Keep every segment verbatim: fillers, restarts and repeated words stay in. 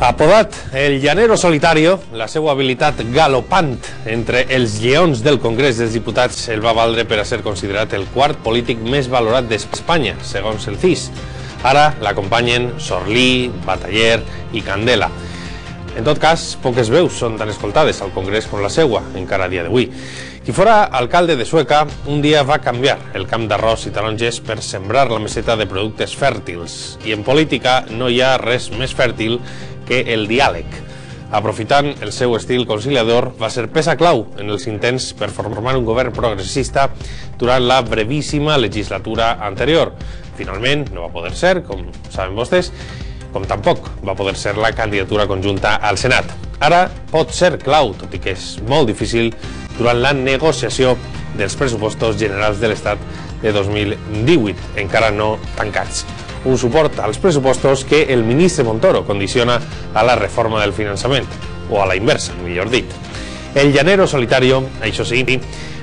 Apodat el llanero solitario, la seva habilitat galopant entre els lleons del Congrés dels Diputats el va valdre per a ser considerat el quart polític més valorat d'Espanya, segons el C I S. Ara l'acompanyen Sorlí, Bataller i Candela. En tot cas, poques veus són tan escoltades al Congrés com la seua, encara a dia d'avui. Qui fora alcalde de Sueca, un dia va canviar el camp d'arròs i taronges per sembrar la meseta de productes fèrtils. I en política no hi ha res més fèrtil que el diàleg. Aprofitant el seu estil conciliador, va ser peça clau en els intents per formar un govern progressista durant la brevíssima legislatura anterior. Finalment, no va poder ser, com saben vostès, com tampoc va poder ser la candidatura conjunta al Senat. Ara pot ser clau, tot i que és molt difícil, durant la negociació dels pressupostos generals de l'Estat de dos mil divuit, encara no tancats. Un suport als pressupostos que el ministre Montoro condiciona a la reforma del finançament, o a la inversa, millor dit. El llanero solitario, això sí,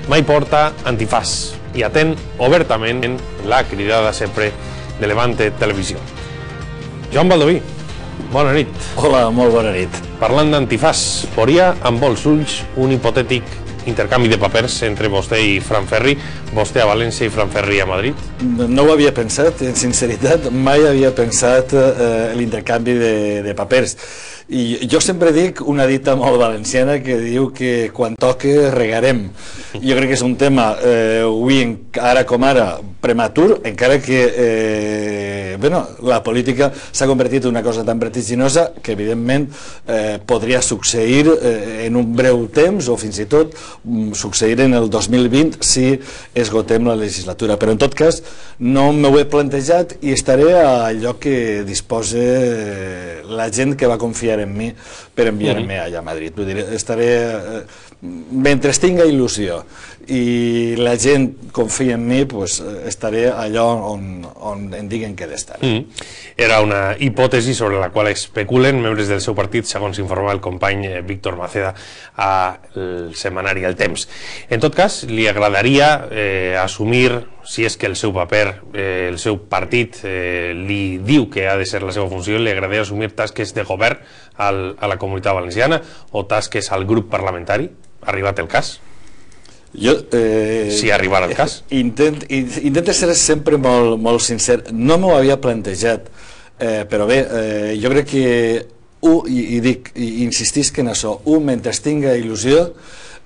mai porta antifàs i atén obertament la cridada sempre de Levante Televisió. Joan Baldoví, bona nit. Hola, molt bona nit. Parlant d'antifàs, veuria amb molts ulls un hipotètic intercanvi de papers entre vostè i Fran Ferri, vostè a València i Fran Ferri a Madrid? No ho havia pensat, en sinceritat, mai havia pensat eh, l'intercanvi de, de papers. I jo sempre dic una dita molt valenciana que diu que quan toque regarem. Jo crec que és un tema, eh, avui, ara com ara, prematur, encara que eh, bueno, la política s'ha convertit en una cosa tan vertiginosa que evidentment eh, podria succeir eh, en un breu temps o fins i tot succeir en el dos mil vint si esgotem la legislatura. Però en tot cas no m'ho he plantejat i estaré a allò que disposa la gent que va confiar en mi per enviar-me allà a Madrid. Vull dir, estaré, mentre tinga il·lusió i la gent confia en mi, pues, estaré allò on, on em diguen que he d'estar. Mm. Era una hipòtesi sobre la qual especulen membres del seu partit, segons informa el company Víctor Maceda al setmanari El Temps. En tot cas, li agradaria eh, assumir, si és que el seu paper, eh, el seu partit eh, li diu que ha de ser la seva funció, li agradaria assumir tasques de govern al, a la Comunitat Valenciana o tasques al grup parlamentari? Ha arribat el cas? Jo, eh, si arribarà el cas. Intent, intento ser sempre molt, molt sincer. No m'ho havia plantejat, eh, però bé, eh, jo crec que u, i, i dic, i insistisc en això, un, mentre tinga il·lusió,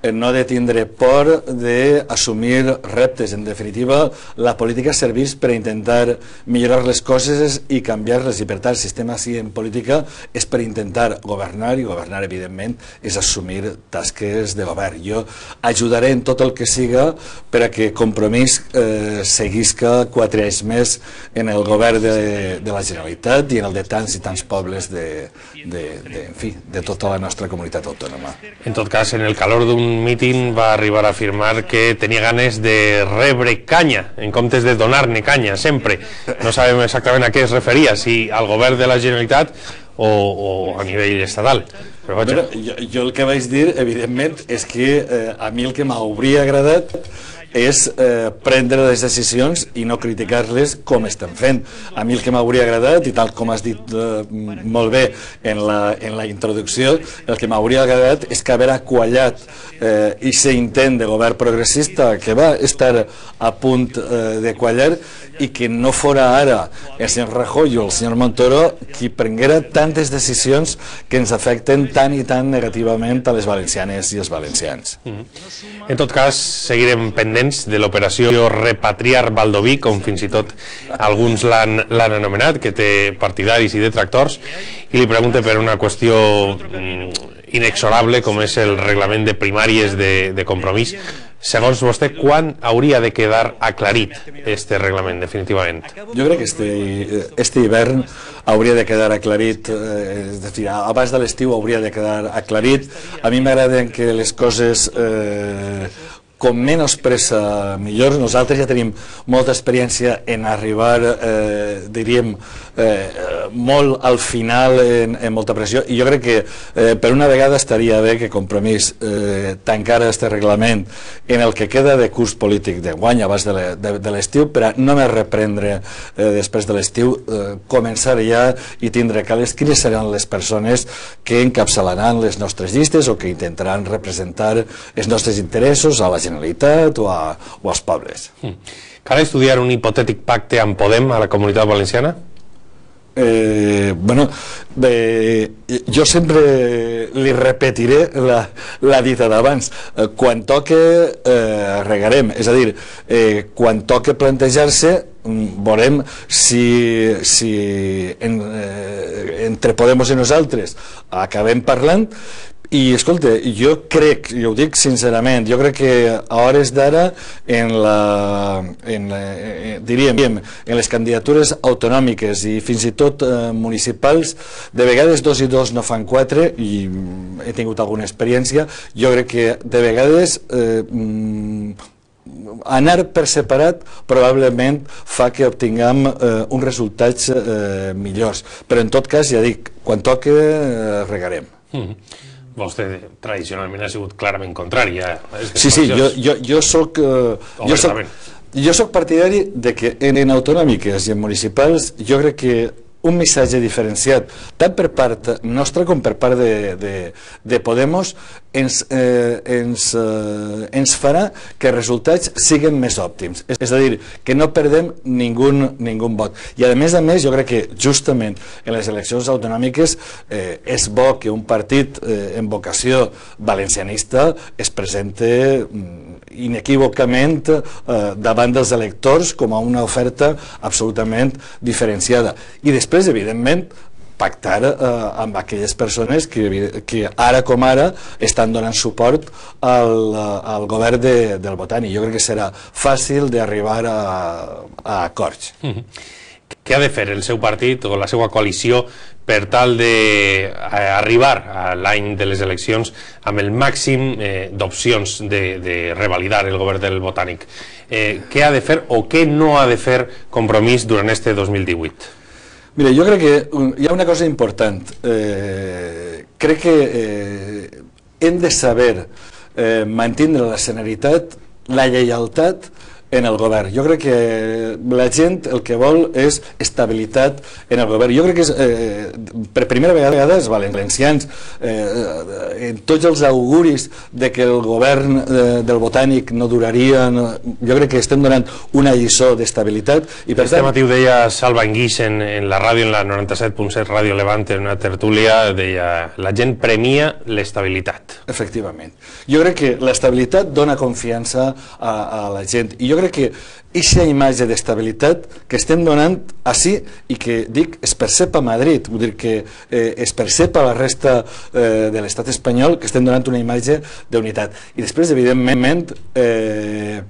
no de tindre por d'assumir reptes. En definitiva, la política serveix per intentar millorar les coses i canviar-les, i per tant el sistema així en política és per intentar governar, i governar evidentment és assumir tasques de govern. Jo ajudaré en tot el que siga per a que Compromís eh, seguisca quatre anys més en el govern de, de la Generalitat i en el de tants i tants pobles de, de, de, en fi, de tota la nostra comunitat autònoma. En tot cas, en el calor d'un míting va arribar a afirmar que tenia ganes de rebre canya en comptes de donar-ne canya, sempre. No sabem exactament a què es referia, si al govern de la Generalitat o, o a nivell estatal. Però vaja. Bueno, jo, jo el que vaig dir, evidentment, és que eh, a mi el que m'hauria agradat és eh, prendre les decisions i no criticar-les com estem fent. A mi el que m'hauria agradat, i tal com has dit eh, molt bé en la, en la introducció, el que m'hauria agradat és que haver aquallat eh, aquest intent de govern progressista que va estar a punt eh, de quallar, i que no fora ara el senyor Rajoy o el senyor Montoro qui prenguera tantes decisions que ens afecten tan i tan negativament a les valencianes i els valencians. Mm-hmm. En tot cas, seguirem pendents de l'operació Repatriar Baldoví, com fins i tot alguns l'han anomenat, que té partidaris i detractors, i li pregunte per una qüestió inexorable com és el reglament de primàries de, de Compromís. Segons vostè, quan hauria de quedar aclarit este reglament, definitivament? Jo crec que este, este hivern hauria de quedar aclarit, eh, és a dir, abans de l'estiu hauria de quedar aclarit. A mi m'agraden que les coses eh, com menys pressa millor. Nosaltres ja tenim molta experiència en arribar, eh, diríem, eh, molt al final en, en molta pressió, i jo crec que eh, per una vegada estaria bé que Compromís eh, tancara aquest reglament en el que queda de curs polític de guany abans de l'estiu, per a només reprendre eh, després de l'estiu, eh, començar ja i tindre cales quines seran les persones que encapçalaran les nostres llistes o que intentaran representar els nostres interessos a la Generalitat o, a, o als pobles. Mm. Cal estudiar un hipotètic pacte amb Podem a la Comunitat Valenciana? Eh, bueno, eh, jo sempre li repetiré la, la dita d'abans. Eh, quan toque eh, regarem, és a dir, eh, quan toque plantejar-se veurem si, si en, eh, entre Podemos i nosaltres acabem parlant. I, escolta, jo crec, jo ho dic sincerament, jo crec que a hores d'ara en la, en la, eh, diríem, en les candidatures autonòmiques i fins i tot eh, municipals, de vegades dos i dos no fan quatre, i he tingut alguna experiència. Jo crec que de vegades eh, anar per separat probablement fa que obtinguem eh, uns resultats eh, millors, però en tot cas, ja dic, quan toque eh, regarem. Mm-hmm. Vostè tradicionalment ha sigut clarament contrari a aquestes sí, sí, jo, jo, jo soc eh, jo soc, jo soc partidari de que en, en autonòmiques i en municipals jo crec que un missatge diferenciat tant per part nostra com per part de, de, de Podemos ens, eh, ens, eh, ens farà que els resultats siguin més òptims, és a dir, que no perdem ningú, ningú vot. I a més a més jo crec que justament en les eleccions autonòmiques eh, és bo que un partit eh, en vocació valencianista es presente inequívocament eh, davant dels electors com a una oferta absolutament diferenciada. I després, evidentment, pactar eh, amb aquelles persones que, que ara com ara estan donant suport al, al govern de, del Botànic. Jo crec que serà fàcil d'arribar a, a acords. Mm-hmm. Què ha de fer el seu partit o la seva coalició per tal d'arribar a l'any de les eleccions amb el màxim eh, d'opcions de, de revalidar el govern del Botànic? Eh, què ha de fer o què no ha de fer Compromís durant este dos mil divuit? Mira, jo crec que hi ha una cosa important. Eh, crec que eh, hem de saber eh, mantindre la serenitat, la lleialtat en el govern. Jo crec que la gent el que vol és estabilitat en el govern. Jo crec que és, eh, per primera vegada els valencians, eh, en tots els auguris de que el govern eh, del Botànic no duraria, no, jo crec que estem donant una lliçó d'estabilitat. Este matí ho deia Salva Enguix en, en la ràdio, en la noranta-set punt set Ràdio Levante, en una tertúlia, deia la gent premia l'estabilitat. Efectivament. Jo crec que l'estabilitat dona confiança a, a la gent, i jo crec que aquesta imatge d'estabilitat que estem donant així i que dic es percep a Madrid, vull dir que eh, es percep a la resta eh, de l'estat espanyol, que estem donant una imatge d'unitat. I després, evidentment, eh,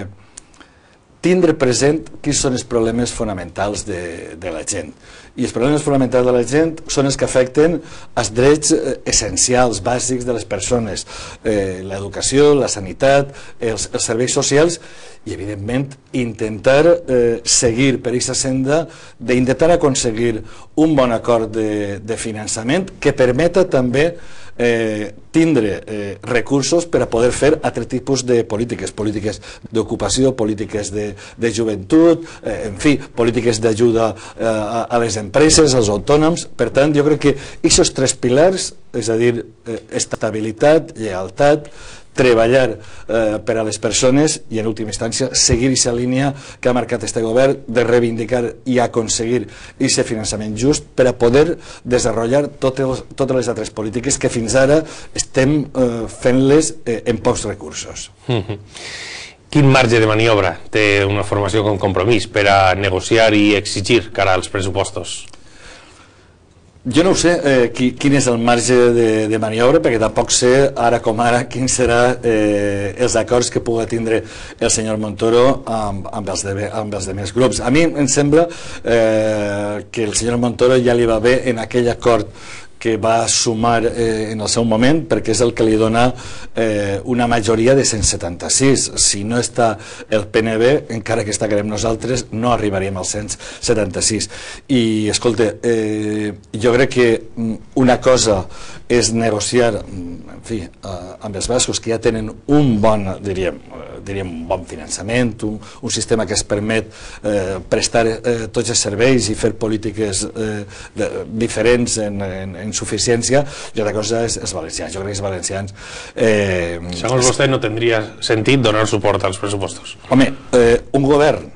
tindre present quins són els problemes fonamentals de, de la gent. I els problemes fonamentals de la gent són els que afecten els drets essencials, bàsics de les persones, eh, l'educació, la sanitat, els, els serveis socials, i evidentment intentar eh, seguir per aquesta senda d'intentar aconseguir un bon acord de, de finançament que permeta també Eh, tindre eh, recursos per a poder fer altres tipus de polítiques, polítiques d'ocupació, polítiques de, de joventut, eh, en fi, polítiques d'ajuda eh, a, a les empreses, als autònoms. Per tant, jo crec que aquests tres pilars, és a dir, eh, estabilitat, lleialtat, treballar eh, per a les persones i, en última instància, seguir aquesta línia que ha marcat este govern de reivindicar i aconseguir aquest finançament just per a poder desenvolupar totes, totes les altres polítiques que fins ara estem eh, fent-les eh, en pocs recursos. Mm-hmm. Quin marge de maniobra té una formació com Compromís per a negociar i exigir cara als pressupostos? Jo no ho sé eh, qui, quin és el marge de, de maniobra, perquè tampoc sé ara com ara quins seran eh, els acords que pugui tindre el senyor Montoro amb, amb, els de, amb els demés grups. A mi em sembla eh, que el senyor Montoro ja li va bé en aquell acord que va sumar eh, en el seu moment, perquè és el que li dona eh, una majoria de cent setanta-sis. Si no està el P N B, encara que estacarem nosaltres, no arribaríem als cent setanta-sis. I, escolta, eh, jo crec que una cosa és negociar, en fi, eh, amb els bascos, que ja tenen un bon, diríem, diríem un bon finançament, un, un sistema que es permet eh, prestar eh, tots els serveis i fer polítiques eh, de, diferents en, en, en suficiència, i altra cosa és els valencians. Jo crec que els valencians... Eh, Segons vostè, no tindria sentit donar suport als pressupostos. Home, eh, un govern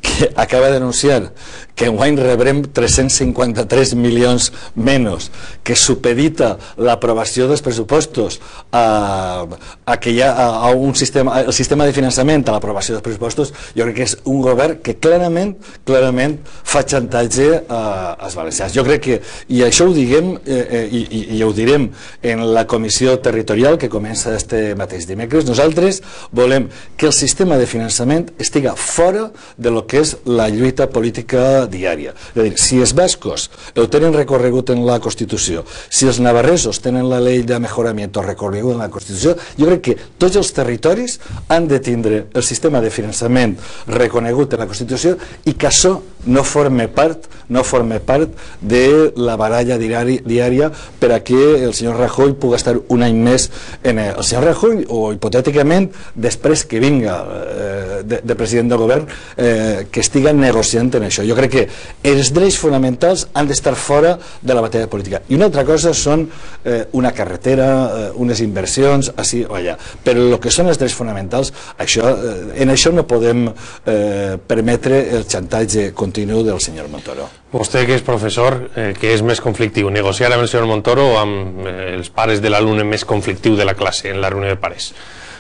que acaba d'anunciar que enguany rebrem tres-cents cinquanta-tres milions menys, que supedita l'aprovació dels pressupostos a, a que hi ha a, a un sistema, el sistema de finançament a l'aprovació dels pressupostos, jo crec que és un govern que clarament clarament fa xantatge a, als valencians. Jo crec que, i això ho diguem eh, eh, i, i, i ho direm en la comissió territorial que comença este mateix dimecres, nosaltres volem que el sistema de finançament estiga fora de lo que és la lluita política diària. És a dir, si els bascos ho tenen recorregut en la Constitució, si els navarresos tenen la llei de mejoramiento recorregut en la Constitució, jo crec que tots els territoris han de tindre el sistema de finançament reconegut en la Constitució i que això no forme part no forme part de la baralla diari, diària per a que el senyor Rajoy pugui estar un any més en el, el senyor Rajoy, o hipotèticament després que vinga eh, de, de president del govern, eh, que estiga negociant en això. Jo crec que els drets fonamentals han d'estar fora de la batalla política. I una altra cosa són eh, una carretera, eh, unes inversions, així o allà. Però el que són els drets fonamentals, això, eh, en això no podem eh, permetre el xantatge continu del senyor Montoro. Vostè, que és professor, eh, que és més conflictiu, negociar amb el senyor Montoro o amb eh, els pares de l'alumne més conflictiu de la classe, en la reunió de pares?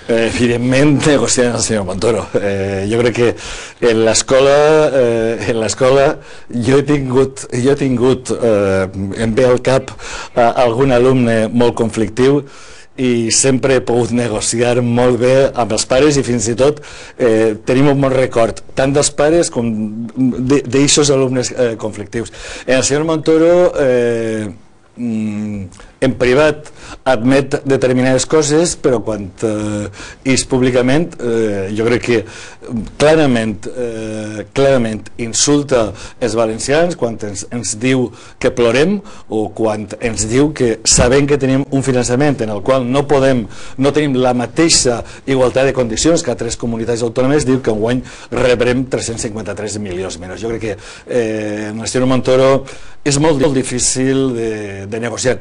Eh, evidentment, negociar amb el senyor Montoro. Eh, jo crec que en l'escola eh, en l'escola jo he tingut, jo he tingut eh, em ve al cap eh, algun alumne molt conflictiu i sempre he pogut negociar molt bé amb els pares i fins i tot eh, tenim un bon record tant dels pares com d'aixos alumnes eh, conflictius. En el senyor Montoro eh, en privat admet determinades coses, però quan eh, és públicament eh, jo crec que clarament eh, clarament insulta els valencians quan ens, ens diu que plorem o quan ens diu que sabem que tenim un finançament en el qual no podem, no tenim la mateixa igualtat de condicions que altres comunitats autònomes, diu que enguany rebrem tres-cents cinquanta-tres milions menys. Jo crec que eh, el senyor Montoro és molt, molt difícil de, de negociar.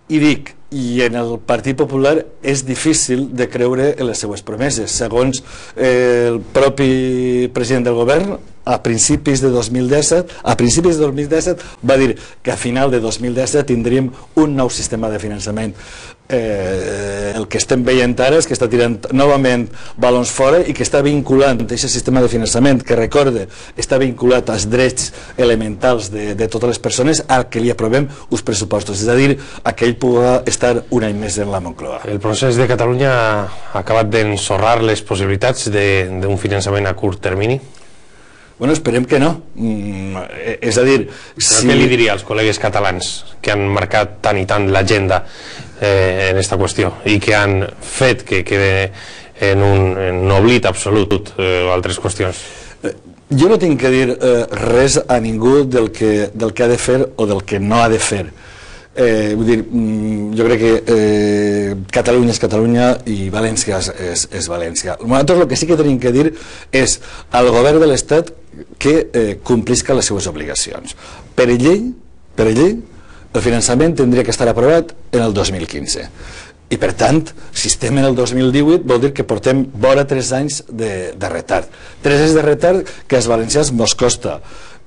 I dic, i en el Partit Popular és difícil de creure en les seues promeses. Segons eh, el propi president del govern, a principis de dos mil disset, a principis de dos mil disset va dir que a final de dos mil disset tindríem un nou sistema de finançament. Eh, el que estem veient ara és que està tirant novament balons fora i que està vinculant aquest sistema de finançament, que recorde, està vinculat als drets elementals de, de totes les persones al que li aprovem uns pressupostos, és a dir, a que ell pugui estar un any més en la Moncloa. El procés de Catalunya ha acabat d'ensorrar les possibilitats d'un finançament a curt termini? Bueno, esperem que no. Mm, és a dir... Si... Què li diria als col·legues catalans que han marcat tant i tant l'agenda eh, en aquesta qüestió i que han fet que quede en un, en un oblit absolut eh, altres qüestions? Eh, jo no tinc que dir eh, res a ningú del que, del que ha de fer o del que no ha de fer. Eh, vull dir, jo crec que eh, Catalunya és Catalunya i València és, és, és València. Nosaltres el que sí que tenim que dir és al govern de l'Estat que eh, complisca les seues obligacions. Per llei, per llei, el finançament tindria que estar aprovat en el dos mil quinze. I per tant, si estem en el dos mil divuit vol dir que portem vora tres anys de, de retard. Tres anys de retard que als valencians mos costa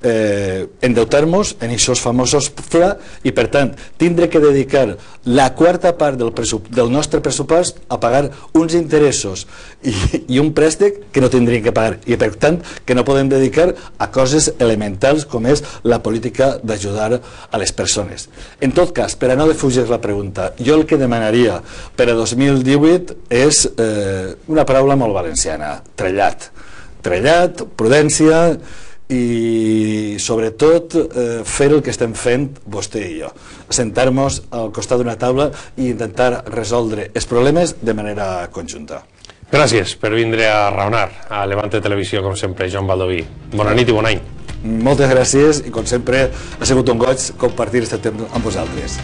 eh, endeutar-nos en aquests famosos fla i per tant tindre que dedicar la quarta part del, del nostre pressupost a pagar uns interessos i, i un préstec que no tindríem que pagar i per tant que no podem dedicar a coses elementals com és la política d'ajudar a les persones. En tot cas, per a no defugir la pregunta, jo el que demanaria per a dos mil divuit és eh, una paraula molt valenciana, trellat. Trellat, prudència i sobretot eh, fer el que estem fent vostè i jo, sentar-nos al costat d'una taula i intentar resoldre els problemes de manera conjunta. Gràcies per vindre a raonar a Levante Televisió, com sempre, Joan Baldoví. Bona nit i bon any. Moltes gràcies i, com sempre, ha sigut un goig compartir aquest temps amb vosaltres.